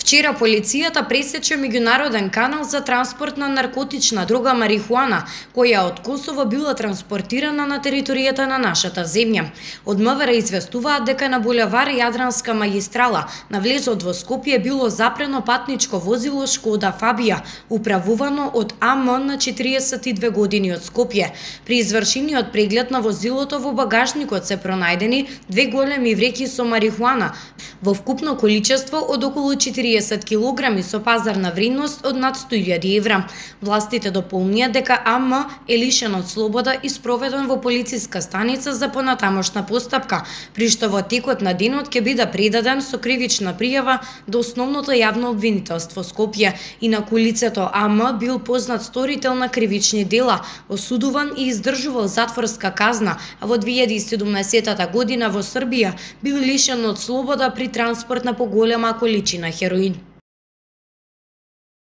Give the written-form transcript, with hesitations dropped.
Вчера полицијата пресече меѓународен канал за транспорт на наркотична дрога марихуана, која од Косово била транспортирана на територијата на нашата земја. Од МВР известуваат дека на булевар Јадранска магистрала на влезот во Скопје било запрено патничко возило Шкода Фабија, управувано од АМ на 42 години од Скопје. При извршениот преглед на возилото во багажникот се пронајдени 2 големи вреќи со марихуана во вкупно количество од околу 40 килограми со пазарна вредност од над 100.000 евра. Властите дополнија дека АМ е лишен од слобода и спроведен во полициска станица за понатамошна постапка, при што во текот на денот ќе биде предаден со кривична пријава до Основното јавно обвинителство Скопје. Инаку лицето АМ бил познат сторител на кривични дела, осудуван и издржувал затворска казна, а во 2017 година во Србија бил лишен од слобода при транспорт на поголема количина хероин.